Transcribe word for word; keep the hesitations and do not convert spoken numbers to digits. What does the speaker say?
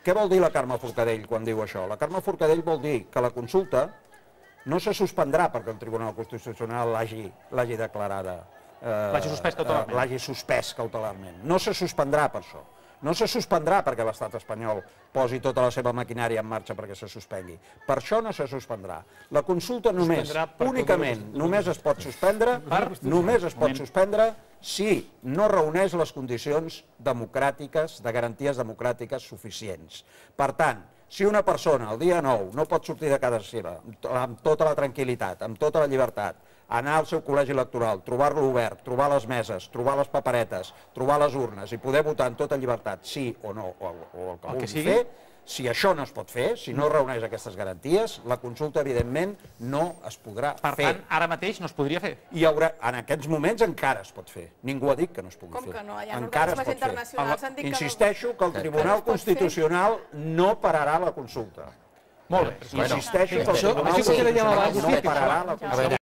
Què vol dir la Carme Forcadell quan diu això? La Carme Forcadell vol dir que la consulta no se suspendrà perquè el Tribunal Constitucional l'hagi declarada, l'hagi suspès cautelarment. No se suspendrà per això. No se suspendrà perquè l'estat espanyol posi tota la seva maquinària en marxa perquè se suspengui. Per això no se suspendrà. La consulta només, únicament, només es pot suspendre, només es pot suspendre si no reuneix les condicions democràtiques, de garanties democràtiques suficients. Per tant, si una persona el dia nou no pot sortir de casa seva amb tota la tranquil·litat, amb tota la llibertat, anar al seu col·legi electoral, trobar-lo obert, trobar les meses, trobar les paperetes, trobar les urnes i poder votar en tota llibertat, sí o no, o el que vulgui fer, si això no es pot fer, si no reuneix aquestes garanties, la consulta, evidentment, no es podrà fer. Per tant, ara mateix no es podria fer? I en aquests moments encara es pot fer. Ningú ha dit que no es pugui fer. Com que no? Hi ha encara organismes internacionals han dit que no. Insisteixo que el Tribunal Constitucional no pararà la consulta. Molt bé. Insisteixo que el Tribunal Constitucional no pararà la consulta.